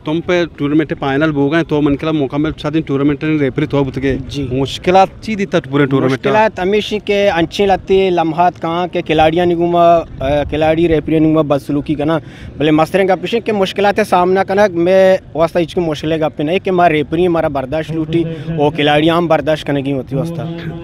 تمپ ءِ ٹورنامنٹ ءِ فائنل بوگ ءَ اِنت، تو من کلا مکمل شادیں ٹورنامنٹ ءِ ریفری تو بوتگ ئے۔ جی۔ مشکلات چی دیتا پورے ٹورنامنٹ ءَ؟ مشکلات ہمیش اِنت کہ انچیں لہتے لمحات کاں کہ کھلاڑیانی گوما، آ، کھلاڑی ریفریانی گوما بدسلوکی کناں، بلے مستریں گپ اِش اِنت کہ مشکلات ءِ سامنا کنگ مئے واسطہ ہچ کہ مشکل ءِ گپے نہ اِنت کہ ما ریفری، مارا برداشت لوٹی، او کھلاڑی ہم برداشت کنگی وتی واسطہ۔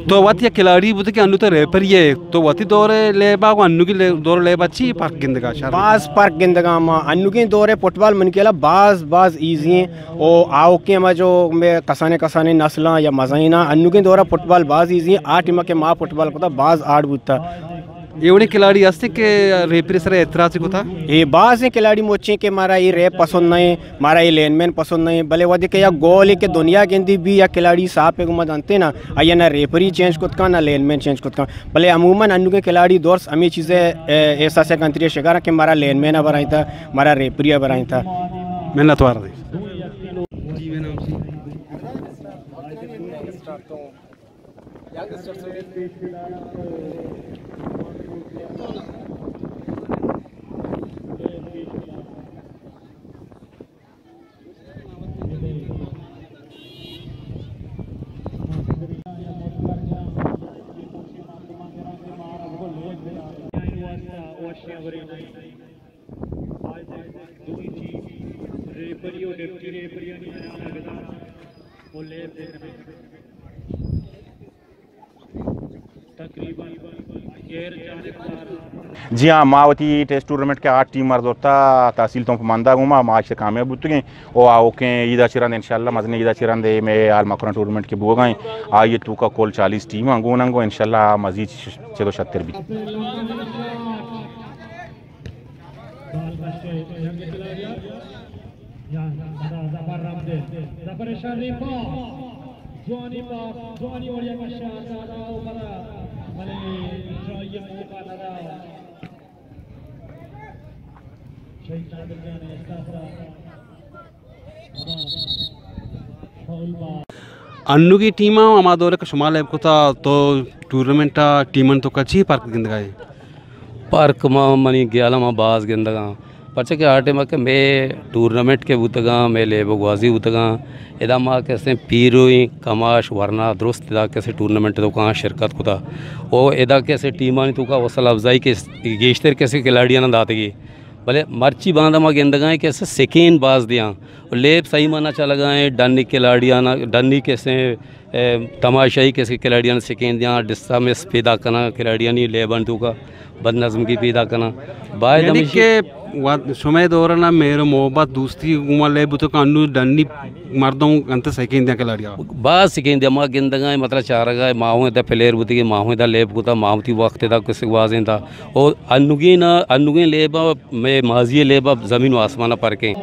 تو وت یک کھلاڑی بوتگ کہ انو تو ریفری ئے، تو وتی دور ءِ لیب ءَ گوں انوگیں لے-، دور ءِ لیب ءَ چی فرق گندگ ءَ شر؟ باز فرق گندگ ءَ ما انوگیں دور ءِ فٹبال من کلا باز، باز ایزی اِنت۔ او آؤکیں ہما جو مئے کسانیں کسانیں نسلاں یا مزنیناں، انوگیں دور ءِ فٹبال باز ایزی اِنت۔ آ ٹیم ءَ کہ ما فٹبال کتا باز ہارڈ بوتا۔ اے وڑیں کھلاڑی ہست اِنت کہ ریفری سر ءَ اعتراض کتا؟ اے بازیں کھلاڑی مچیں کہ مارا اے ریپ پسند نہ اِنت، مارا اے لین مین پسند نہ اِنت، بلے وھدے کہ یک گولے کہ دنیا گندی بی یک کھلاڑی ساپ ءَ گوما دنت نا، آئی ءَ نہ ریفری چینج کت کن، نہ لین مین چینج کت کن۔ بلے عموماً انوگیں کھلاڑی درست ہمے چیز ءِ، اے، احساس ءِ کنتری ءِ شکار اَنت کہ مارا لین مین ءَ برائینتا، مارا ریفری ءَ برائینتا۔ منت وار۔ جی ہاں، ما وتی ٹیسٹ ٹورنامنٹ کہ آٹھ ٹیم مر زرتا تحصیل تمپ مندا گوما ما اشتہ کامیاب بوتگیں۔ او آؤکیں عید ءَ چہ رند انشاءاللہ مزنیں عید ءَ چہ رند اے مئے حال مکران ٹورنامنٹ کہ بوگا ایں، آئی توکا کل چالیس ٹیم آں گون انگو انشاءاللہ مزید چد و شتر بیت۔ انوگی ٹیم ءَ ہما دور ءَ کہ شما لیب کتا تو ٹورنامنٹ ءَ ٹیمانی توکا چی فرق گندگا ئے؟ فرق ما منی گیال ءَ ما باز گندگاں، پرچا کہ آ ٹائم ءَ کہ مئے ٹورنامنٹ کہ بوتگاں، مئے لیب ءُ گوازی بوتگاں، ادا ما کسے پیرویں کماش ورنا درست ادا کسے ٹورنامنٹ توکا شرکت کتا۔ او ادا کسے ٹیمانی توکا حوصلہ افزائی کہ گیشتر کسے کھلاڑیاں داتگی۔ بلے مرچی باندا ما گندگائیں کہ اسے سکین باز دیاں۔ و لیب صحیح مانا چلگائیں، ڈنی کھلاڑیانا، ڈنی کسے، اے، تماشائی کسے کھلاڑیانا سکین دیاں، ڈسٹربنس پیدا کناں، کھلاڑیانی لیبان توکا بد نظمگی پیدا کناں۔ باید یعنی ہمیشی کہ وت-، شمئے دورنا مہر و محبت دوستی گوما لیب بوتو کہ انو ڈنی مردم انت سکین دیاں کھلاڑیا۔ باز سکین دیاں، ما گندگائیں، مطلب چارگائیں، ما ہوں ادا پلیئر بوتگیں، ما ہوں ادا لیب کتا، ما وتی وقت ادا کسے گوازینتا۔ او انوگیں نا، انوگیں لیبا مئے ماضی ءِ لیب ءَ زمین و آسمان ءِ پرک ایں۔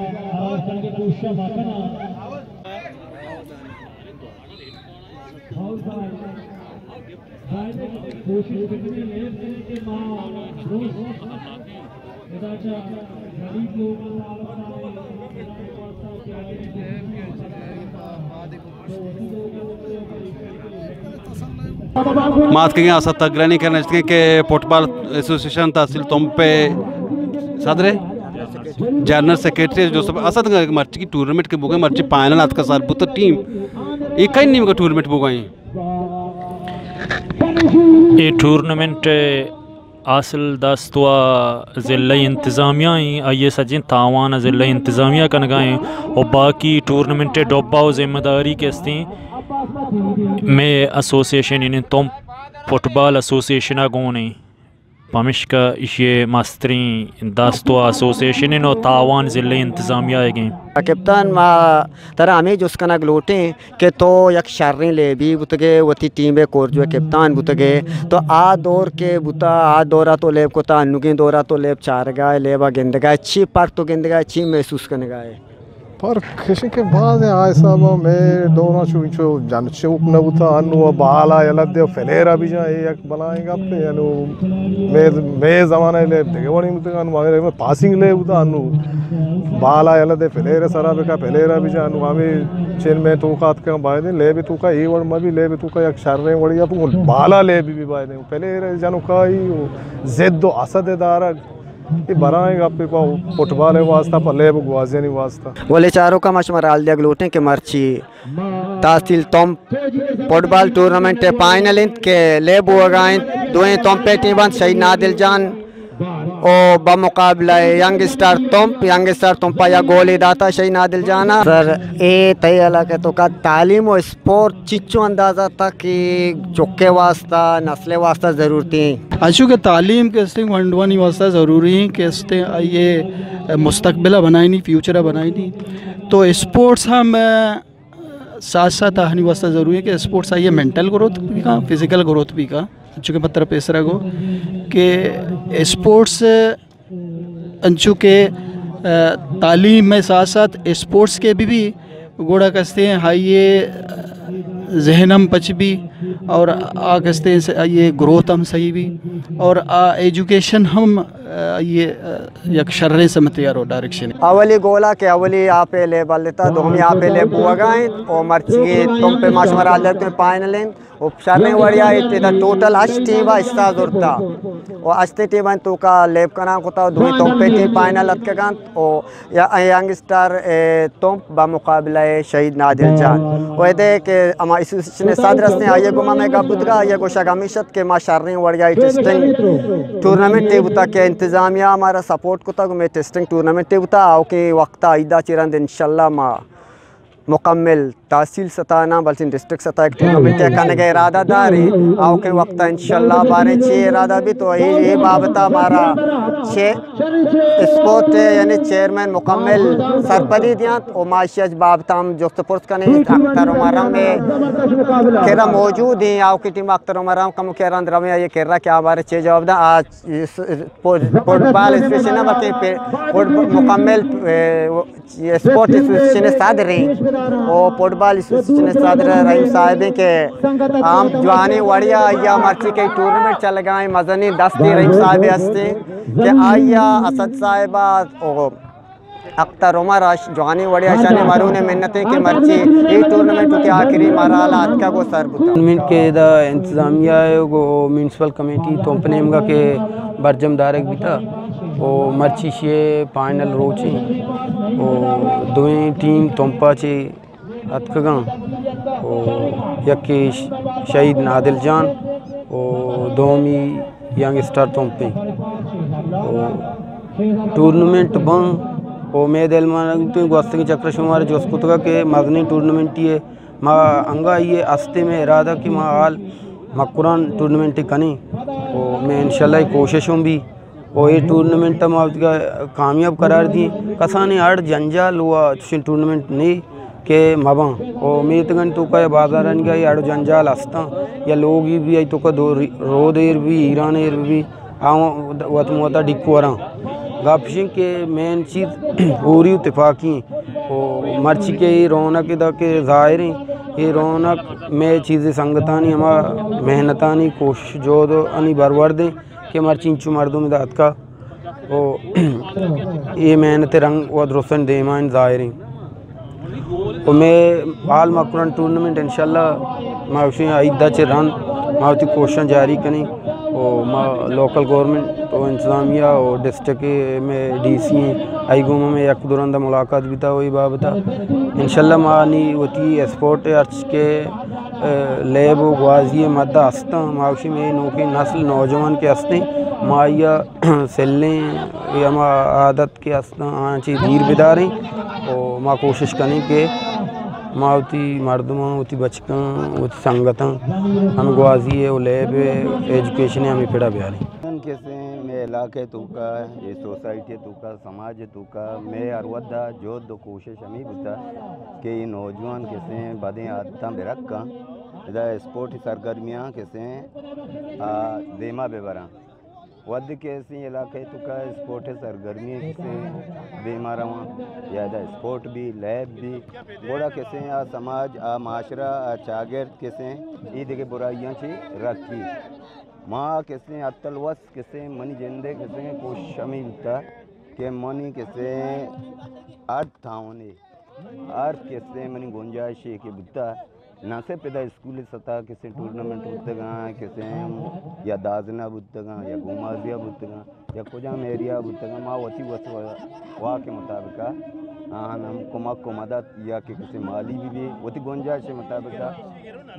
ما اتکگیں اسد تگرانی کرا نشتگیں کہ فٹبال ایسوسیشن تحصیل تمپ ءِ صدر ءِ جنرل سیکرٹری جو سب اسد مرچی کی ٹورنامنٹ کہ بوگا، مرچی فائنل اتکا سر بوتا ٹیم، اے کئی نیمگا ٹورنامنٹ بوگا ایں؟ اے ٹورنامنٹ اصل دست و ضلعی انتظامیہ ایں، آئی ءِ سجیں تاوان ضلعی انتظامیہ کنگا ایں و باقی ٹورنامنٹ ءِ ڈبہ و ذمہ داری کہ استیں مئے ایسوسیشن یعنی تمپ فٹبال ایسوسیشن ءَ گون ایں۔ پمشکا ایشی ءِ مستریں دست و ایسوسیشن ایں و تاوان ضلعی انتظامیہ ئیگ ایں۔ کپتان، ما ترا ہمے جست کنگ لوٹیں کہ تو یک شریں لیبی بوتگے، وتی ٹیم ءِ کورجو ءِ کپتان بوتگے، تو آ دور کہ بوتا، آ دورا تو لیب کتا، انوگیں دورا تو لیب چارگا ئے، لیبا گندگا ئے، چی فرق تو گندگا ئے، چی محسوس کنگا ئے؟ فرق اش کہ باز آ حسابا مئے دورا چو انچو جن چوک نہ بوتا، انو بالا یلہ دے پلیئرا بجا، اے یک بلاہیں گپے، انو مئے، مئے زمانہ لیب دگہ وڑیں بوتگا، انو ہمے پاسنگ لیب بوتا، انو بالا یلہ دے پلیئر سرا بکا، پلیئرا بجا، انو ہمے چین مئے توکا اتکا، باید لیب توکا اے وڑ مبی، لیب توکا یک شریں وڑیا بالا لیب بی، باید پلیئر جنوکائی و ضد و حسد دارگ۔ اے برائیں گپے پہ فٹبال ءِ واسطہ، پہ لیب ءُ گوازیانی واسطہ۔ ولے چاروکاں، ما شمارا حال دیگ لوٹیں کہ مرچی تحصیل تمپ فٹبال ٹورنامنٹ ءِ فائنل انت کہ لیب بوگا انت۔ دوئیں تمپ ءِ ٹیم انت، شہید نادل جان او بمقابلہ ینگ اسٹار تمپ، ینگ اسٹار تمپ ءَ یک گولے داتا شہید نادل جان ءَ۔ سر، اے تئی علاقہ ءِ توکا تعلیم ءُ اسپورٹ چچو اندازہ تا کہ چکے واسطہ، نسل واسطہ ضرورتی ہیں؟ اچو کہ تعلیم کہ استیں گونڈوانی واسطہ ضروری ہیں کہ استیں آئیے مستقبل بنائنی، فیوچر بنائنی، تو اسپورٹس ہم ساتھ ساتھ آہانی واسطہ ضروری ہے کہ اسپورٹس آئیے مینٹل گروتھ بھی کا، فزیکل گروتھ بھی کا۔ چونکہ مطلب پیسرا گو کہ اسپورٹس انچو کہ، آ، تعلیم ءِ ساتھ ساتھ اسپورٹس کے بھی، بھی گوڑا کستے ہیں، آئیے ذہن ہم پچ بھی اور آ کستے ہیں سے آئیے گروتھ ہم صحیح بھی اور آ ایجوکیشن ہم، آ، آئیے، آ، یک شریں سمتے ءَ رو ڈائریکشن۔ اولی گولا کہ اولی آپ ءِ لیب بلتا، دومی آپ ءِ لیب بوگا انت او مرچی تمپ ءِ ما شمارا حال دیگ لوٹیں فائنل انت۔ و شریں وڑیا ایت، ادا ٹوٹل ہشت ٹیم ءَ حصہ زرتا و ہشتیں ٹیم ءَ توکا لیب کنان کتا و دوئیں تمپ ءِ ٹیم فائنل اتکگ انت و یا-، ینگ اسٹار، اے، تمپ بمقابلہ شہید نادل جان و ادے کہ ہما ایسوسیشن ءِ صدر ہستیں، آئی ءَ گوما مئے گپ بوتگا، آئی ءِ گوشگ ہمیش ات کہ ما شریں وڑیا ٹیسٹنگ ٹورنامنٹ ءِ بوتا کہ انتظامیہ ہمارا سپورٹ کتا، گو مئے ٹیسٹنگ ٹورنامنٹ ءِ بوتا، آؤکیں وقتا عیدا چہ رند انشاءاللہ ما مکمل تحصیل سطح نہ بلکن ڈسٹرکٹ سطح یک ٹورنامنٹ ءِ کنگ ءِ ارادہ داریں۔ آؤکیں وقت ءَ انشاءاللہ باریں چی ارادہ بیت و اے، اے بابت ءَ مارا چہ اسپورٹ ءِ یعنی چیئرمین مکمل سرپدی دیانت و ما اشی ءِ بابت ءَ ہم جست و پرس کنیں۔ اختر عمر ہم اے کرا موجود ہیں، آؤکیں ٹیم اختر عمر ہم کمو کہ رند رویں آئی ءِ کرا کہ آ باریں چی جواب داں۔ آ س-، س-، فٹ-، فٹبال ایسوسیشن ءِ بلکن پہ-، فٹ-، مکمل، اے، اسپورٹ ایسوسیشن ءِ صدر ہیں و فٹبال ایسوسیشن ءِ صدر رحیم صاحب ہیں کہ عام جوانیں وڑیا آئی ءَ مرچی کہ ٹورنامنٹ چلگا ہیں، مزنیں دستے رحیم صاحب ہستیں کہ آئی ءَ اسد صاحب ءَ و اختر عمر اش جوانیں وڑیا اشانی مرون ءِ منت ہیں کہ مرچی اے ٹورنامنٹ وتی آخری مرحلہ ءَ اتکگ و سر بوتا۔ ٹورنامنٹ کہ ادا انتظامیہ ءَ گوں میونسپل کمیٹی تمپ نیمگا کہ برجم دارگ بیتا و مرچی شی فائنل روچیں و دوئیں ٹیم تمپا چہ اتکگاں و یکے ش-، شہید نادل جان و دومی ینگ اسٹار تمپیں و ٹورنامنٹ باں و مئے دل مان گوستگیں چکر شمارا جست کتگا کہ مزنیں ٹورنامنٹے ما انگا آئی ءِ ہستیں، مئے ارادہ کہ ما حال مکران ٹورنامنٹ کنیں و مئے انشاءاللہ اے کوشش ہم بی و اے ٹورنامنٹ ءَ ما وتیگا کامیاب قرار دیں۔ کسانیں اڑ جنجال و چشیں ٹورنامنٹ نے کہ مباں و میتگانی توکا یا بازارانی گا اے اڑ و جنجال ہستاں یا لوگی بی آئی توکا دو ری-، رود ایر بی، ایران ایر بی، آ وت موتا ڈیکو وراں۔ گپ اشیں کہ مین چیز ہوری و تفاقی و مرچی کہ اے رونق ادا کہ ظاہریں، اے رونق مئے چیزے سنگتانی ہما محنتانی کوشش جہد انی برورد ایں کہ مرچی انچو مردم ادا اتکا و اے محنت رنگ و درستانی دیما انت ظاہریں۔ و مئے حال مکران ٹورنامنٹ انشاءاللہ ما گوشیں عید ءَ چہ رند ما وتی کوششاں جاری کنیں و ما لوکل گورنمنٹ و انتظامیہ و ڈسٹرکٹ ءِ مئے ڈی سی ایں، آئی گوما مئے یک دو رند ملاقات بیتا و اے بابت ءَ انشاءاللہ ما نی وتی اسپورٹ ءِ ہرچ کہ، اے، لیب و گوازی ءِ مدہ ہستاں، ما گوشیں مئے نوکیں نسل نوجوان کہ ہستیں ما آئی ءَ سلیں اے ہما عادت کہ ہستاں، آیاں چہ دیر بداریں و ما کوشش کنیں کہ ما وتی مردماں، وتی بچکاں، وتی سنگتاں ہمے گوازی ءَ و لیب ءَ ایجوکیشن ءَ ہمے پڑا بیاریں۔ من کسیں مئے علاقہ ءِ توکا، اے سوسائٹی ءِ توکا، سماج ءِ توکا مئے ہر وھد ءَ جہد و کوشش ہمے بوتا کہ اے نوجوان کسیں بدیں عادتاں بہ رکاں، ادا اسپورٹی سرگرمیاں کسیں، آ، دیما بہ براں۔ وھدے کہ اسیں علاقہ ءِ توکا اسپورٹ ءِ سرگرمی کسیں دیما رواں، یا ادا اسپورٹ بی، لیب بی، گڑا کسیں آ سماج، آ معاشرہ، آ چاگرد کسیں اے دگہ برائیاں چہ رکی۔ ما کسیں اتل وس کسیں منی جند ءِ کسیں کوشش ہمے بوتا کہ منی کسیں ہر تاونے ہر کسے منی گنجائشے کہ بوتا، نہ صرف ادا اسکول سطح کسیں ٹورنامنٹ بوتگاں، کسیں یا دازنہ بوتگاں، یا گومازیہ بوتگاں، یا کجام ایریا بوتگاں، ما وتی وس و واک مطابق آہان ہم کمک و مدد یا کہ کسیں مالی بھی بھی وتی گنجائش مطابق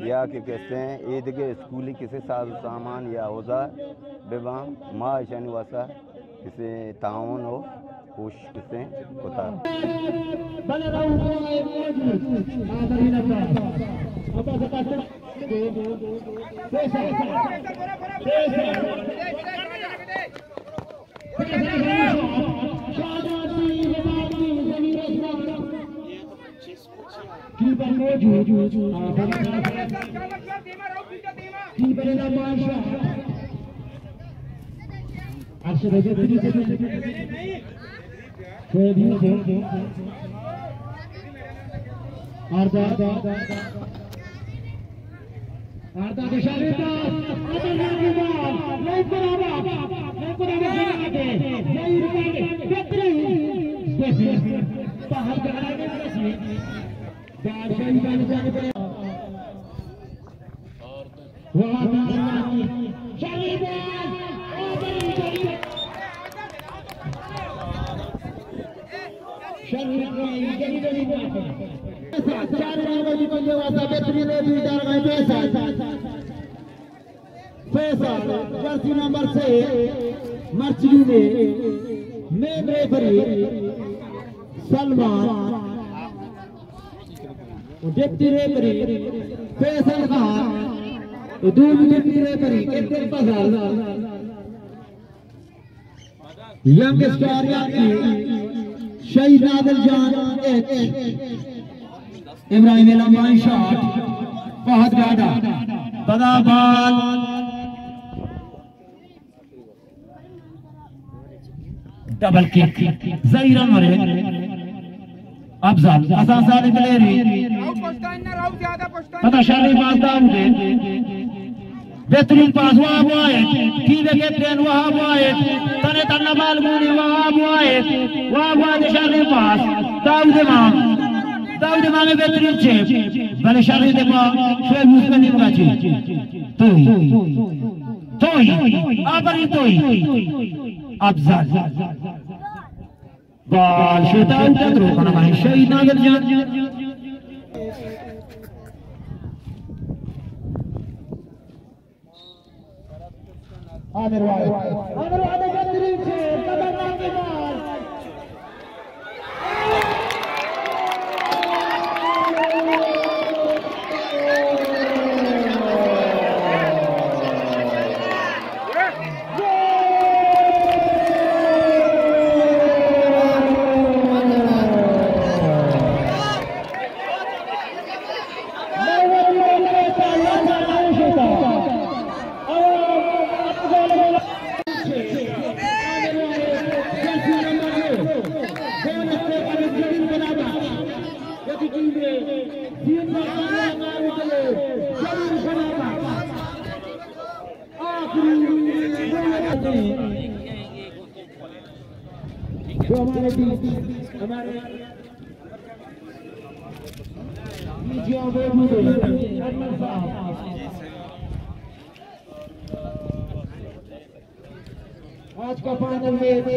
یا کہ کسیں اے دگہ اسکولی کسیں ساز و سامان یا اوزار بباں، ما اشانی واسطہ کسے تعاون و کوشش کسے کتا۔ کیپر موجود۔ کیپر اعلان بادشاہ۔ ارشد حضرت۔ شعیب یوسف۔ آرداد۔ آرداد اشارے دا۔ آرداد اشارے دا۔ نہیں برابر۔ نہیں برابر۔ ظہیر خان۔ بہترین۔ بہترین۔ باہر جانا ہے۔ فیصل، جرسی نمبر سے، مرچی نے، مین ریفری، سلمان، ڈپٹی ریفری، فیصل خان، دومی ڈپٹی ریفری، کیپٹن فضل۔ ینگ اسٹار یکی شہید نادر جان ایچ، ابراہیم لمبائی شاٹ، فہد گاڈا، پدا بال، ڈبل کک، ظہیر انور۔ افضل، حسن سالم بلیری۔ پدا شریں پاس داؤد۔ بہترین پاس وہاب واحد۔ ٹیم کیپٹن وہاب واحد۔ تنے تنا بال گونی وہاب واحد۔ وہاب واحد شریں پاس۔ داؤد امام۔ داؤد امام بہترین چیپ۔ بلے شریں دفاع۔ شعیب یوسف نیمگا چی۔ توہی۔ توہی۔ آفرین توہی۔ افضل۔ بال شوتا اوپر درو کنگا ایں شہید نادر جان۔ عامر واحد۔ عامر واحد بہترین سے خطرناک بال۔ جو ہمارے بیچ، ہمارے بیچ یہاں موجود ہیں، کرنل صاحب۔ آج کا فائنل میچ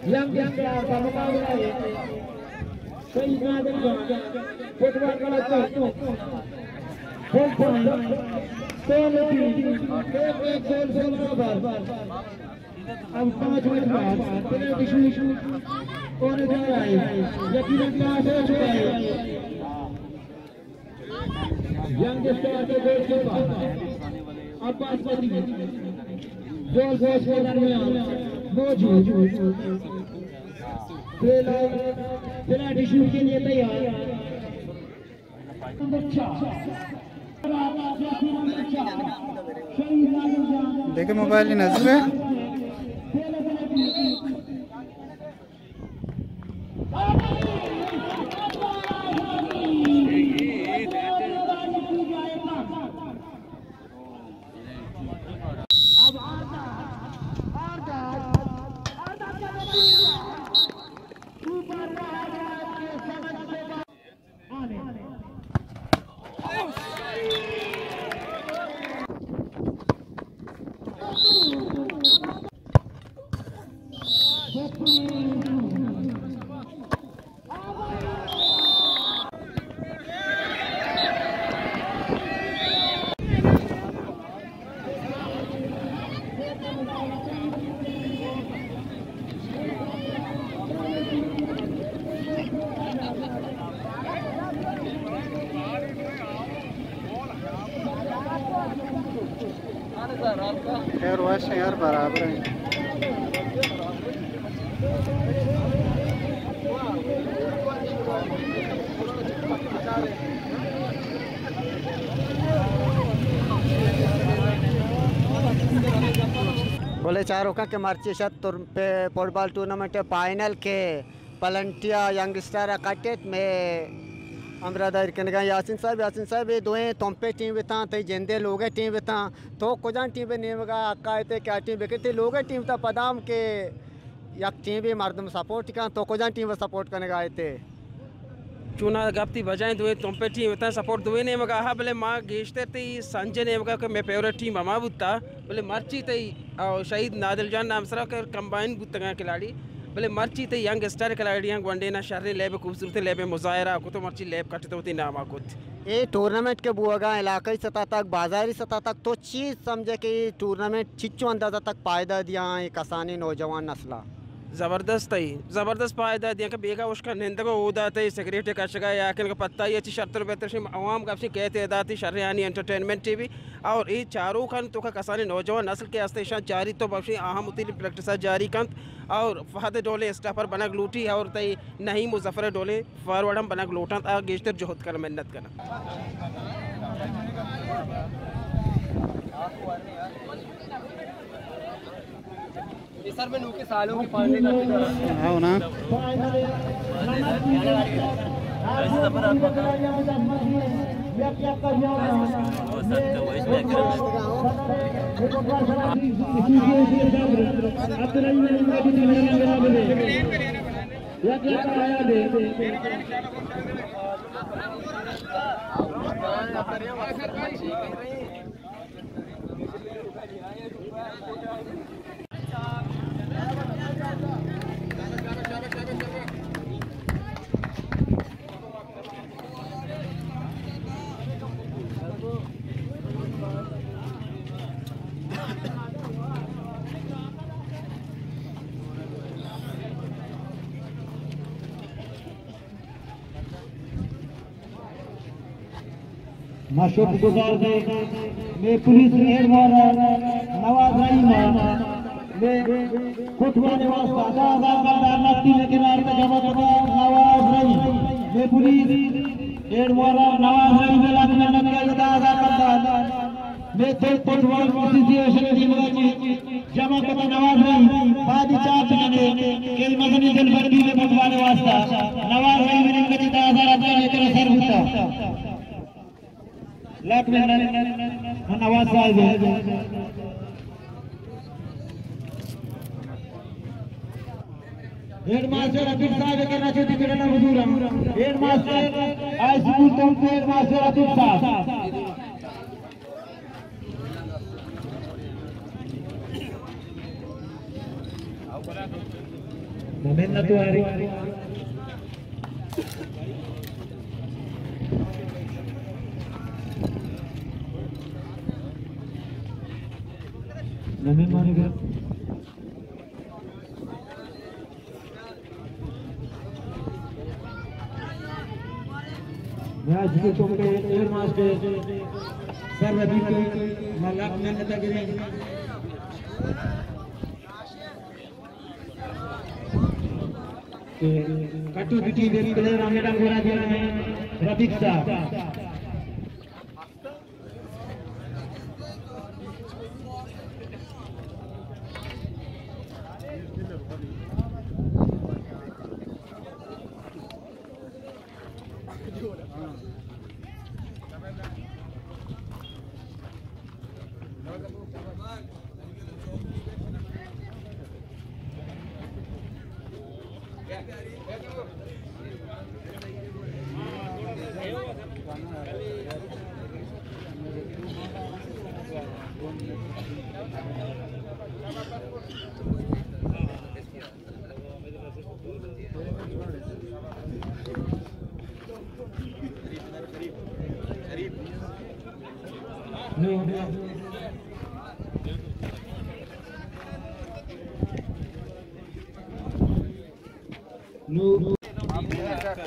ینگ اسٹار کا مقابلہ ہے۔ شہید نادر جان، فٹبال کلب، فل ٹائم، کوالٹی، ایک ایک گول سے برابر۔ اب پانچ منٹ بعد پنالٹی شوٹ ہونے جا رہا ہے۔ یقیناً ٹاس ہو چکا ہے۔ ینگ اسٹار کے گول کیپر عباس بدری گول پوسٹ کے درمیان موجود۔ پہلا پنالٹی شوٹ کے لیے تیار۔ دیکھیں موبائل نظر ہے۔ خیر وش یار، برابر ایں۔ بلے چاروکاں کہ مرچی شت تر-، پہ فٹبال ٹورنامنٹ فائنل کہ پلنٹیا ینگ اسٹار ءَ کٹت، مئے ہمراہ داری کنگا یاسین صاحب۔ یاسین صاحب، اے دوئیں تمپے ٹیم بتاں، تئی جندے لوگے ٹیم بتاں، تو کجام ٹیم ءِ نیمگا حق ءَ ات کہ آ ٹیم بکن؟ تئی لوگے ٹیم تا پدام کہ یک ٹیمے مردم سپورٹ کن، تو کجام ٹیم ءَ سپورٹ کنگا ات؟ چونا گپتی بجائیں دوئیں تمپے ٹیم اتاں، سپورٹ دوئیں نیمگا ہا، بلے ما گیشتر تئی سنجے نیمگا کہ مئے فیوریٹ ٹیم ہما بوتا، بلے مرچی تئی او شہید نادل جان نام سرا کہ کمبائن بوتگاں کھلاڑی، بلے مرچی تئی ینگ اسٹار کھلاڑیاں گونڈینا شریں لیب، خوبصورتیں لیب مظاہرہ کتو، مرچی لیب کٹتو، وتی ناما کت۔ اے ٹورنامنٹ کہ بوگا علاقائی سطح تک، بازاری سطح تک، تو چی سمجھے کہ اے ٹورنامنٹ چچو اندازہ تک فائدہ دیاں اے کسانیں نوجوان نسلا؟ زبردست اے، زبردست فائدہ دیاں کہ بیگا اشکا نندگو اودا تئی سگریٹ کشگا یا کن پتہ اے چی شرتر بہتر شی عوام گپشی کہ تعداد شریانی انٹرٹینمنٹ ٹی وی اور اے چاروکاں توکا کسانیں نوجوان نسل کہ ہست ایشاں چاری تو بخشی اہم وتی پریکٹس جاری کنت اور فہد ڈولیں اسٹاپر بنگ لوٹی اور تئی نعیم مظفر ڈولیں فارورڈ ہم بنگ لوٹنت، آ گیشتر جہد کن، محنت کن۔ ہاں نا۔ ما شکر گزار دے مئے پولیس ہیڈ مارا نواز رحیم، مئے کوتوال واسطہ دہ ہزار کلدار نقدی کنار جمع کتا۔ نواز رحیم، مئے پولیس ہیڈ مارا نواز رحیم، لاکھ منت دہ ہزار کلدار۔ مئے تھل فٹبال ایسوسی ایشن ٹیم ءَ چہ جمع کتہ نواز رحیم، پادی چاپ جنے کہ مزنی دلبندی مئے فٹبال واسطہ۔ نواز رحیم نے کچھ دہ ہزار افغان اتنا سر بوتا۔ لاکھ منت نواز صاحب۔ ہیڈ ماسٹر عتیق صاحب کرنا چاہتے کہ حضور ہم۔ ہیڈ ماسٹر ہائی اسکول تو ہیڈ ماسٹر عتیق صاحب۔ محنت واری۔ نمے مانے گا۔ میاں جی کے چوک پہ ایئر ماسٹر سر رفیق ما لاکھ منت گریں کہ کٹو کی ٹیم ایک پلیئر ہمیں ڈنگ گورا دیا ہے رفیق صاحب۔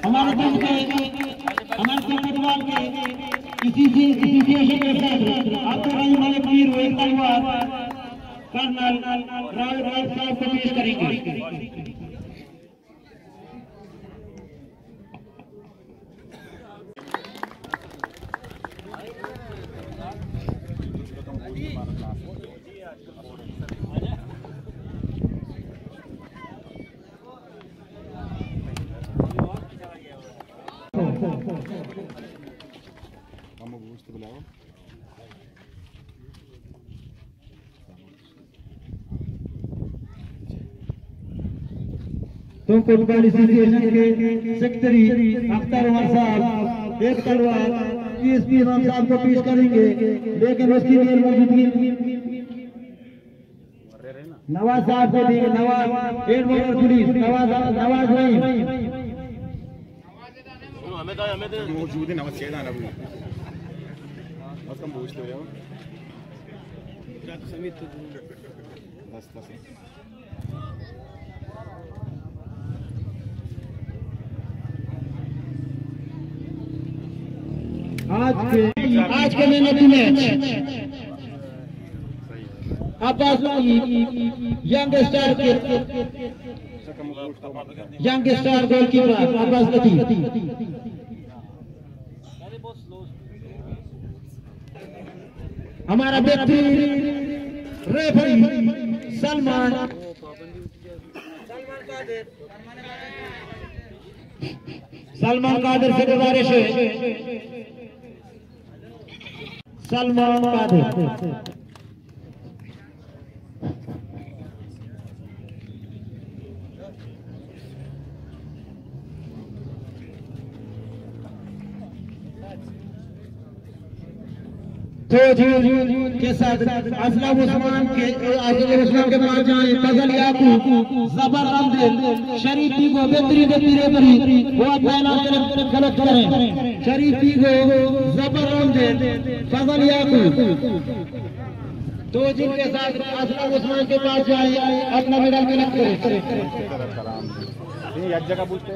ہمارے دل کے، ہمارے دل کے دوار کے، اسی سے، اسی سے شکر صاحب، عبدالرحیم ملک میر و ایک تلوار، کرنل راؤ، راؤ صاحب کو پیش کریں گے۔ ہم گوشت بلاؤ۔ تو فٹبال ایسوسی ایشن کے سیکرٹری اختر عمر صاحب ایک تلوار ڈی ایس پی امام صاحب کو پیش کریں گے، لیکن اس کی غیر موجودگی۔ نواز صاحب کو دیں گے، نواز، ایڈ بارڈر پولیس، نواز، نواز رحیم۔ موجود ہیں، نواز شیدان ابو۔ بس کم بوجھتے ہو جاؤ۔ بس، بس۔ آج کے، آج کے مین آف دی میچ عباس لطیف، ینگ اسٹار کے، ینگ اسٹار گول کیپر عباس لطیف۔ ہمارا بہترین ریفری سلمان، سلمان قادر سے گزارش ہے، سلمان قادر۔ تو جی کے ساتھ اسلم عثمان کے، اسلم عثمان کے پاس جائیں، فضل یعقوب، زبر رمزل، شریف بیگو، بہترین، بہترین ریفری، وہ اپنا انعام کلک، کلک کریں۔ شریف بیگو، زبر رمزل، فضل یعقوب۔ تو جن کے ساتھ اسلم عثمان کے پاس جائیں، اپنا میڈل کلک کریں۔ نہیں، یک جگہ پوچھتے۔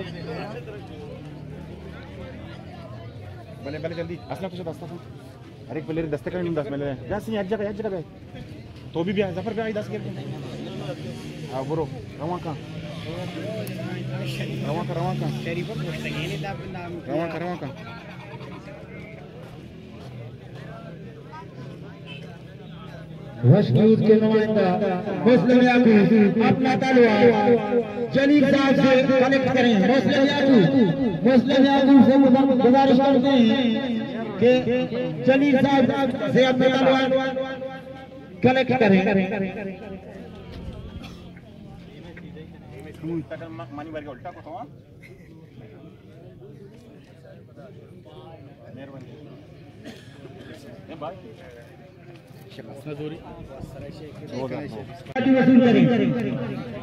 بلے، بلے، جلدی۔ اسلم تو شد، اسلم۔ ہر ایک پلیئر دست کنی، دست ملے۔ جا سی، یک جگہ، یک جگہ بے۔ تو بھی بیا، ظفر بیا، دست گر۔ ہاں، برو، روان کن۔ روان کن، روان کن۔ روان کن، روان کن۔ وش نیوز کے نمائندہ مسلم یعقوب اپنا تلوار جلیل صاحب سے کلیکٹ کریں۔ مسلم یعقوب، مسلم یعقوب سے گزارش کرتے ہیں کہ جلیل صاحب سے اپنا تلوار کلیکٹ کریں۔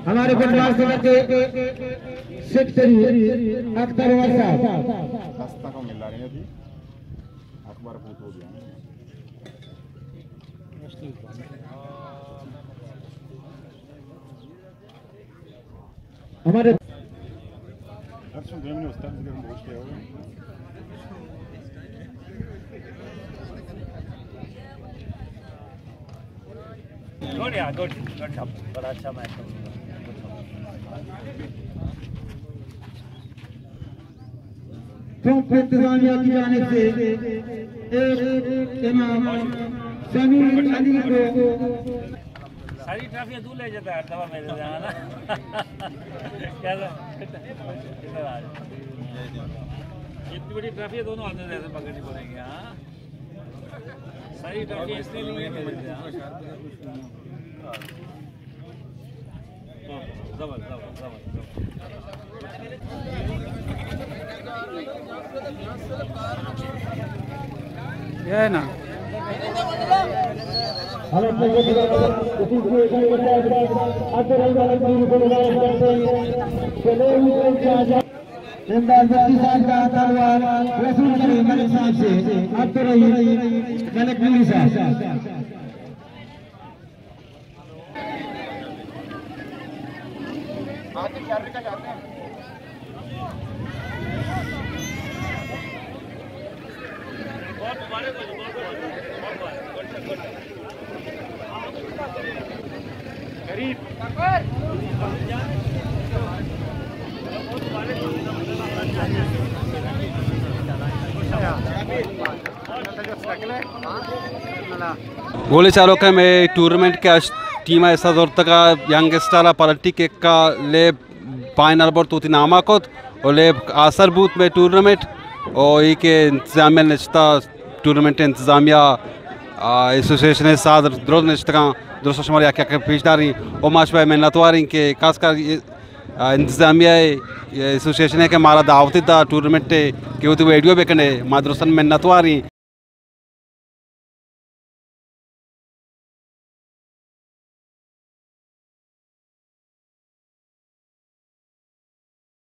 ہمارے فٹبال سنگھ کے سیکرٹری اختر عمر صاحب۔ ہمارے گڈ یار، گڈ، گڈ شاٹ، بڑا اچھا میچ۔ ٹرمپ انتظامیہ کی جانب سے ایک انعام سمیع علی کو۔ ساری ٹرافیاں تو لے جاتا ہے، دوا میرے سے، ہے نا؟ کیا تھا؟ اتنی بڑی ٹرافی ہے، دونوں ہاتھوں سے ایسے پکڑنی پڑیں گی، ہاں؟ ساری ٹرافی اس نے لی ہے میرے سے، ہاں؟ یہ ہے نا۔ امداد بخشی صاحب کا تلوار، رسول کریم ملک صاحب سے عبدالرحیم ملک نوری صاحب۔ گولی چاروکاں، مئے ٹورنمنٹ کہ ہشت ٹیم ءَ حصہ زرتگ ءَ، ینگ اسٹار ءَ پنالٹی کک ءَ لیب فائنل برت، وتی نام ءَ کت ءُ لیب آسر بوت مئے ٹورنمنٹ۔ ءُ اے کہ انتظامیہ نشتہ، ٹورنمنٹ انتظامیہ، آ، ایسوسی ایشن ءِ ساہ درست نشتگاں، درست شمارا یک یک پیش داریں ءُ ما شمئے منتواریں کہ خاص کر آ، انتظامیہ ءِ، ایسوسیشن ءَ کہ مارا دعوت دات ٹورنمنٹ ءَ کہ وتی ویڈیو بکنے، ما درستاں منتواریں۔